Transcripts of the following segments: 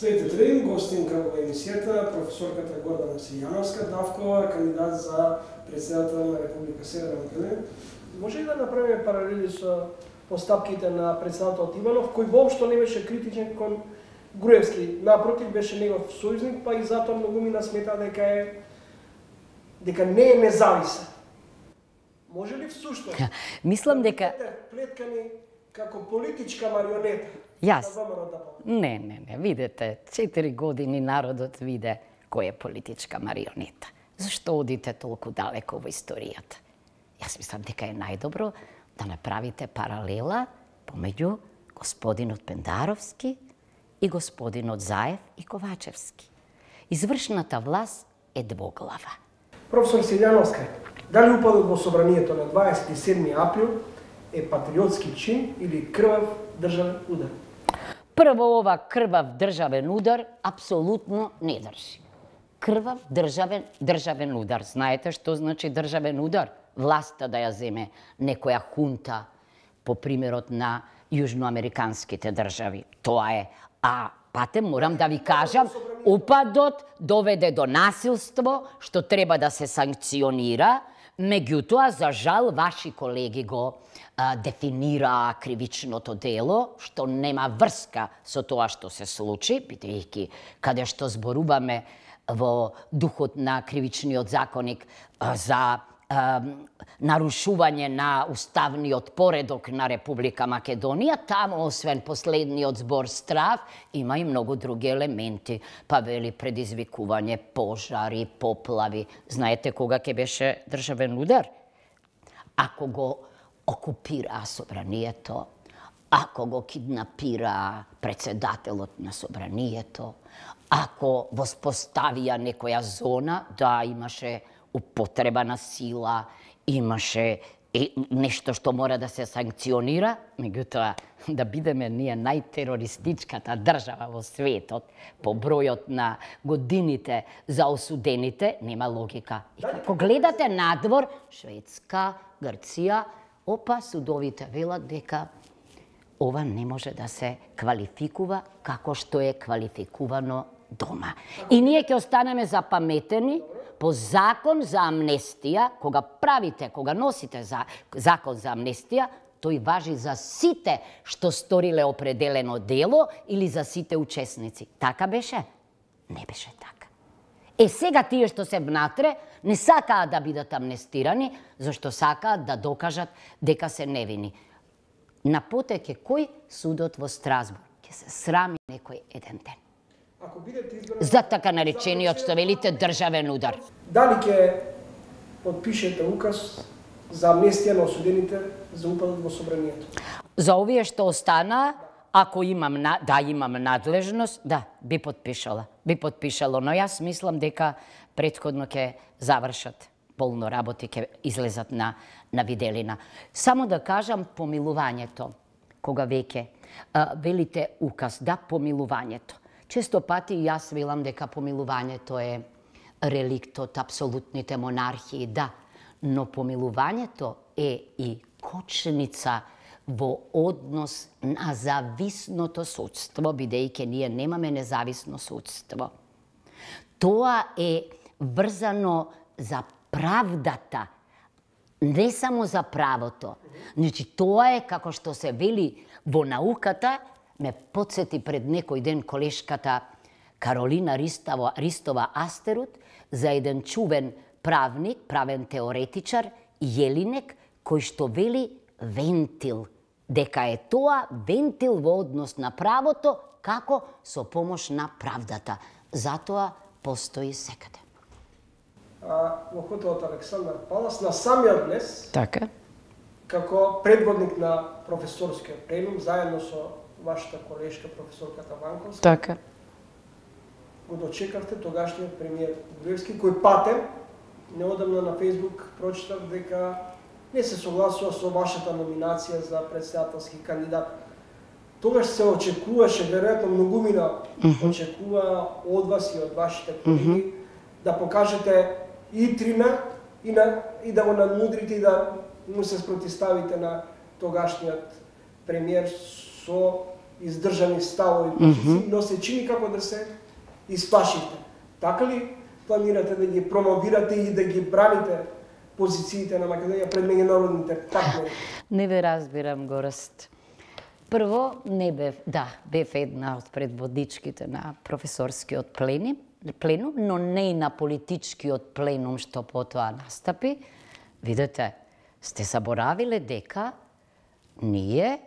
Следите три, гостинка во емисијата, професорката Гордана Сијановска Давкова, кандидат за председател на Република Северна Македонија. Може ли да направиме паралели со постапките на председателот Иванов, кој воопшто не беше критичен кон Груевски, напротив беше негов сојузник, па и затоа многумина смета дека не е независен. Може ли всушност? Мислам дека плеткани како политичка марионета. Јас. Не, видете, 4 години народот виде кој е политичка марионета. Зашто одите толку далеко во историјата? Јас мислам дека е најдобро да направите паралела помеѓу господинот Пендаровски и господинот Заев и Ковачевски. Извршната власт е двоглава. Професор Сијановска, дали упадот во собранието на 27 април е патриотски чин или крвав државен удар? Прво, ова крвав државен удар апсолутно не држи. Крвав државен удар. Знаете што значи државен удар? Власта да ја земе некоја хунта по примерот на јужноамериканските држави. Тоа е. А патем, морам да ви кажам, упадот доведе до насилство, што треба да се санкционира. Меѓутоа, за жал, ваши колеги го дефинираа кривичното дело, што нема врска со тоа што се случи, бидејќи каде што зборуваме во духот на кривичниот законник за нарушување на уставниот поредок на Република Македонија, таму освен последниот збор страв, има и многу други елементи, па вели предизвикување пожари, поплави. Знаете кога ќе беше државен удар? Ако го окупираа собранието, ако го киднапираа председателот на собранието, ако воспоставија некоја зона, да, имаше употреба на сила, имаше нешто што мора да се санкционира, меѓутоа да бидеме ние најтерористичката држава во светот по бројот на годините за осудените, нема логика. И ако гледате надвор, Шведска, Грција, опа, судовите велат дека ова не може да се квалификува како што е квалификувано дома. И ние ќе останеме запаметени по закон за амнестија, кога носите закон за амнестија, тој важи за сите што сториле определено дело или за сите учесници. Така беше? Не беше така. Сега тие што се внатре не сакаат да бидат амнестирани, зашто сакаат да докажат дека се невини. На потек е кој? Судот во Страсбург. Ќе се срами некој еден ден. За така наречениот, што велите, државен удар. Дали ќе подпишете указ за амнестија на осудените за упадот во собранието? За овие што остана, ако имам надлежност, да, би подпишало, но јас мислам дека претходно ќе завршат полно работи, ќе излезат на виделина. Само да кажам помилувањето, кога веќе велите указ, да, помилувањето. Често пати јас велам дека помилувањето е реликт од апсолутните монархии, да, но помилувањето е и кочница во однос на зависното судство, бидејќи ние немаме независно судство. Тоа е врзано за правдата, не само за правото. Значи, тоа е како што се вели во науката. Ме подсети пред некој ден колешката Каролина Ристова Астерут за еден чувен правник, правен теоретичар, Јелинек, кој што вели вентил, дека е тоа вентил во однос на правото, како со помош на правдата. Затоа постои секаде. Во хотелот Александар Палас, на самиот днес, така, како предводник на професорскиот пленум, заедно со вашата колешка професорката Ванковска, така, го дочекавте тогашниот премиер Груевски, кој патем, неодамна на Фејсбук прочитав дека не се согласува со вашата номинација за председателски кандидат. Тогаш се очекуваше, веројатно многумина очекува од вас и од вашите колеги, да покажете итрина и да го надмудрите и да му се спротивставите на тогашниот премиер со издржани ставови позиции, но се чини како да се исплашите. Така ли планирате да ги промовирате и да ги браните позициите на Македонија пред меѓународните партнери? Не ве разбирам, Гораст. Прво, не бев една од предводичките на професорскиот пленум, но не и на политичкиот пленум што потоа настапи. Видете, сте заборавиле дека ние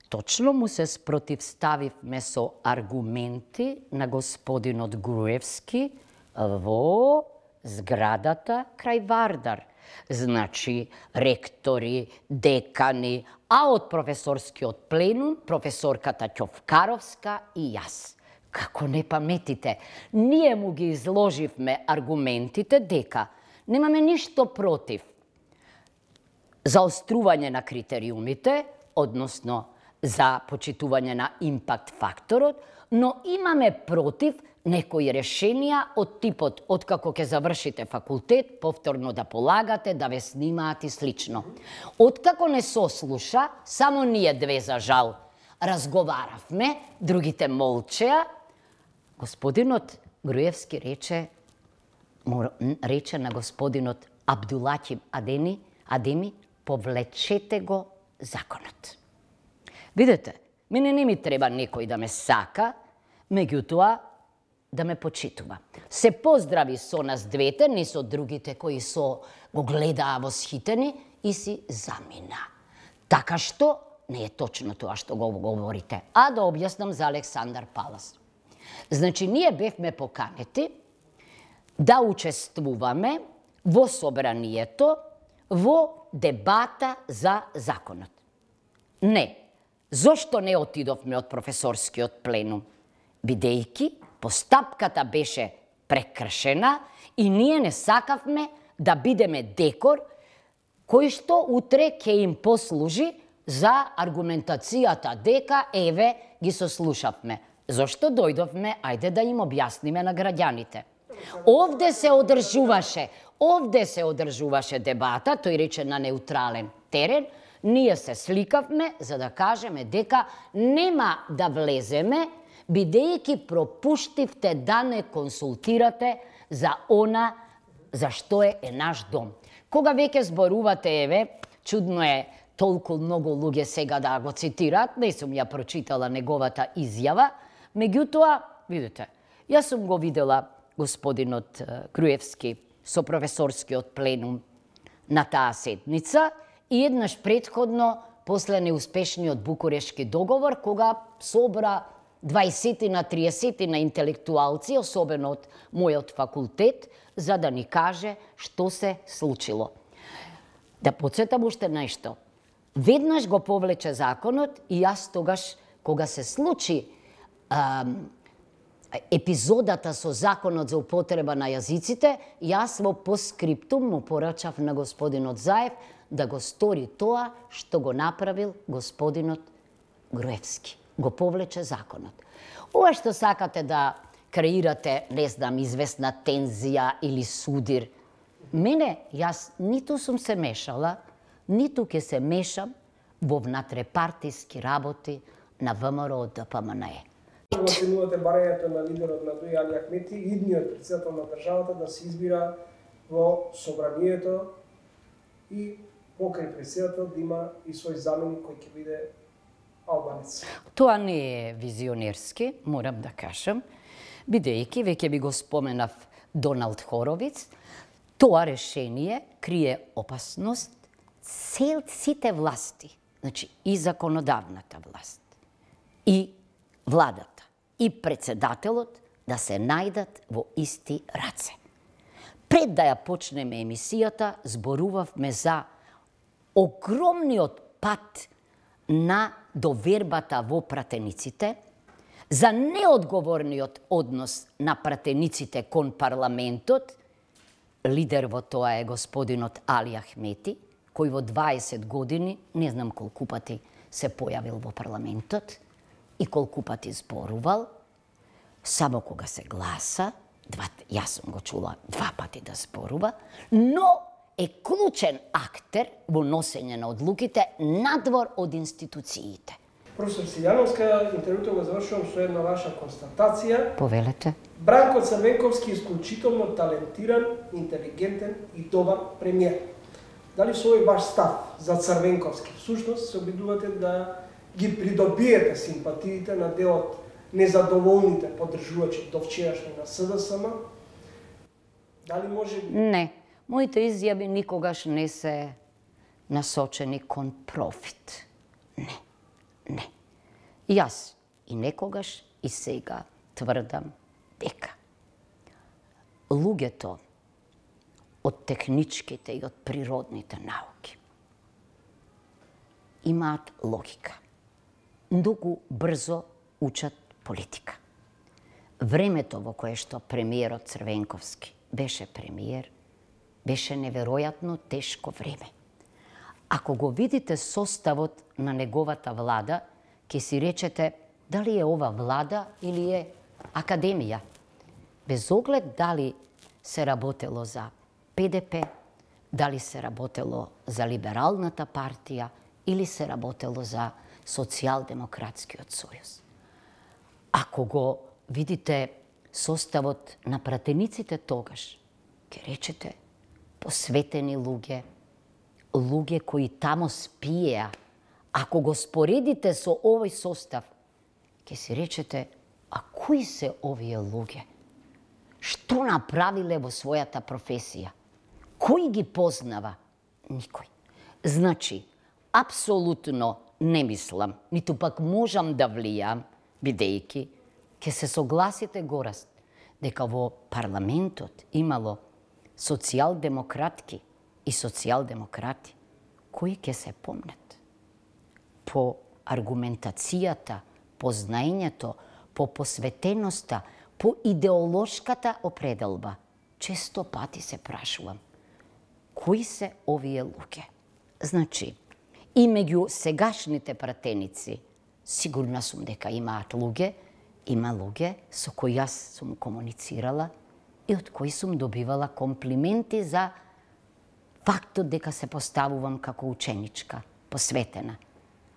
точно му се спротивставивме со аргументи на господинот Груевски во зградата крај Вардар. Значи, ректори, декани, а од професорскиот пленум, професорката Ќовкаровска и јас. Како не паметите, ние му ги изложивме аргументите дека немаме ништо против заострување на критериумите, односно за почитување на импакт факторот, но имаме против некои решенија од типот откако ќе завршите факултет, повторно да полагате, да ве снимаат и слично. Откако не сослуша, само ние две за жал разговаравме, другите молчеа, господинот Груевски рече на господинот Абдулахим Адеми, повлечете го законот. Видете, мене не ми треба некој да ме сака, меѓутоа да ме почитува. Се поздрави со нас двете, не со другите кои го гледаа восхитени и си замина. Така што не е точно тоа што го говорите. А да објаснам за Александар Палас. Значи, ние бевме поканети да учествуваме во собранието во дебата за законот. Не. Зошто не отидовме од професорскиот пленум? Бидејќи постапката беше прекршена и ние не сакавме да бидеме декор кој што утре ќе им послужи за аргументацијата дека еве ги сослушавме. Зошто дојдовме, ајде да им објасниме на граѓаните. Овде се одржуваше дебата, тој рече на неутрален терен, ние се сликавме за да кажеме дека нема да влеземе, бидејќи пропуштивте да не консултирате за она за што е наш дом. Кога веќе зборувате, еве, чудно е толку многу луѓе сега да го цитираат, не сум ја прочитала неговата изјава, меѓутоа, видите, јас сум го видела господинот Груевски со професорскиот пленум на таа седница и еднаш претходно, после неуспешниот Букурешки договор, кога собра 20 на 30 на интелектуалци, особено од мојот факултет, за да ни каже што се случило. Да подсетам уште нешто. Веднаш го повлече законот и јас тогаш, кога се случи епизодата со законот за употреба на јазиците, јас во поскриптум му порачав на господинот Заев да го стори тоа што го направил господинот Груевски. Го повлече законот. Ова што сакате да креирате, не знам, известна тензија или судир, мене, јас ниту сум се мешала, ниту ќе се мешам во внатрепартиски работи на ВМРО ДПМНЕ. Оценувате барањето на лидерот на ДОИ Али Ахмети, идниот претседател на државата да се избира во собранието и покрај претседател да има и свој заменик кој ќе биде албанец. Тоа не е визионерски, морам да кажам, бидејќи веќе би го споменав Доналд Хоровиц, тоа решение крие опасност сите власти, значи и законодавната власт, и владата, и председателот да се најдат во исти раце. Пред да ја почнеме емисијата, зборувавме за огромниот пат на довербата во пратениците, за неодговорниот однос на пратениците кон парламентот. Лидер во тоа е господинот Али Ахмети, кој во 20 години, не знам колку пати се појавил во парламентот и колку пати зборувал, само кога се гласа, јас сум го чула 2 пати да зборува, но е клучен актер во носење на одлуките надвор од институциите. Професор Силјановска, интервјуто го завршувам со една ваша констатација. Повелете. Бранко Црвенковски е исклучително талентиран, интелигентен и добар премиер. Дали со овој ваш став за Црвенковски всушност се обидувате да ги придобиете симпатиите на дел од незадоволните поддржувачи до вчерашни на СДСМ? Дали може би... Не. Моите изјави никогаш не се насочени кон профит. Не. Јас и некогаш и сега тврдам дека луѓето од техничките и од природните науки имаат логика. Многу брзо учат политика. Времето во кое што премиерот Црвенковски беше премиер, беше неверојатно тешко време. Ако го видите составот на неговата влада, ќе си речете дали е ова влада или е академија. Без оглед дали се работело за ПДП, дали се работело за Либералната партија или се работело за Социјалдемократскиот сојуз. Ако го видите составот на пратениците тогаш, ќе речете посветени луѓе, луѓе кои тамо спиеа. Ако го споредите со овој состав, ќе си речете, а кои се овие луѓе? Што направиле во својата професија? Кој ги познава? Никој. Значи, апсолутно не мислам, ниту пак можам да влијам, бидејќи ќе се согласите гораст, дека во парламентот имало социјалдемократки и социјалдемократи, кои ќе се помнат по аргументацијата, по знаењето, по посветеноста, по идеолошката определба. Често пати се прашувам, кои се овие луѓе? Значи, и меѓу сегашните пратеници, сигурна сум дека имаат луѓе, има луѓе со кои јас сум комуницирала и од кои сум добивала комплименти за фактот дека се поставувам како ученичка, посветена.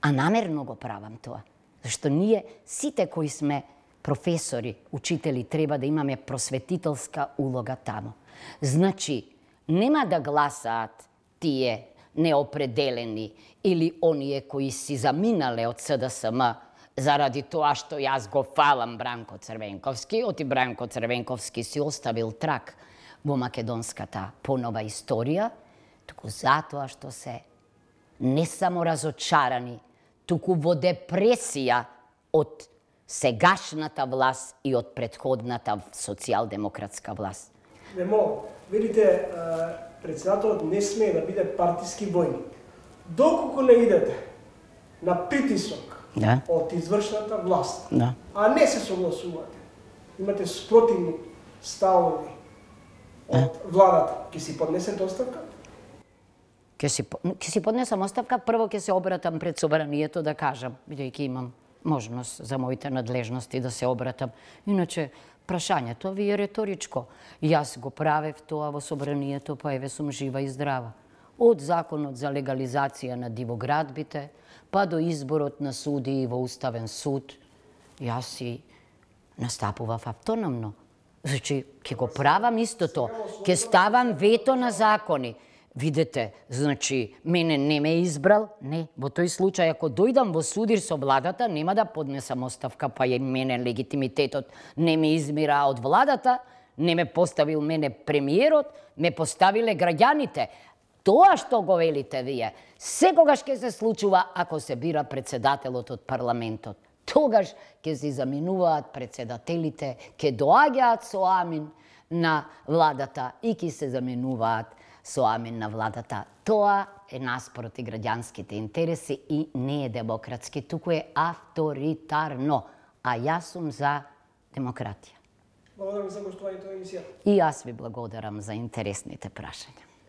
А намерно го правам тоа, зашто ние сите кои сме професори, учители, треба да имаме просветителска улога тамо. Значи, нема да гласаат тие неопределени или оние кои си заминале од СДСМ заради тоа што јас го фалам Бранко Црвенковски, оти Бранко Црвенковски си оставил трак во македонската понова историја, туку затоа што се не само разочарани, туку во депресија од сегашната власт и од претходната социјалдемократска власт. Немо, видите, председателот не смее да биде партиски војник. Доколку не идете на притисок од извршната власт, а не се согласувате, имате спротивни ставови од владата, ќе си поднесете оставка? Ќе си поднесам оставка, прво ќе се обратам пред собранието да кажам, бидејќи имам можност за моите надлежности да се обратам. Иначе, прашањето ви е реторичко. Јас го правев тоа во собранието, па еве сум жива и здрава. Од законот за легализација на дивоградбите, па до изборот на судии во Уставен суд, јас си настапував автономно. Значи, ќе го правам истото, ќе ставам вето на закони. Видете, значи, мене не ме избрал, не. Во тој случај, ако дојдам во судир со владата, нема да поднесам оставка, па и мене легитимитетот не ме измира од владата, не ме поставил мене премиерот, ме поставиле граѓаните. Тоа што го велите вие, секогаш ќе се случува ако се бира председателот од парламентот. Тогаш ќе се заминуваат председателите, ќе доаѓаат со амин на владата и ќе се заменуваат со амин на владата. Тоа е наспроти граѓанските интереси и не е демократски, туку е авторитарно. А јас сум за демократија. Благодарам за гостувањето на емисија. И јас ви благодарам за интересните прашања.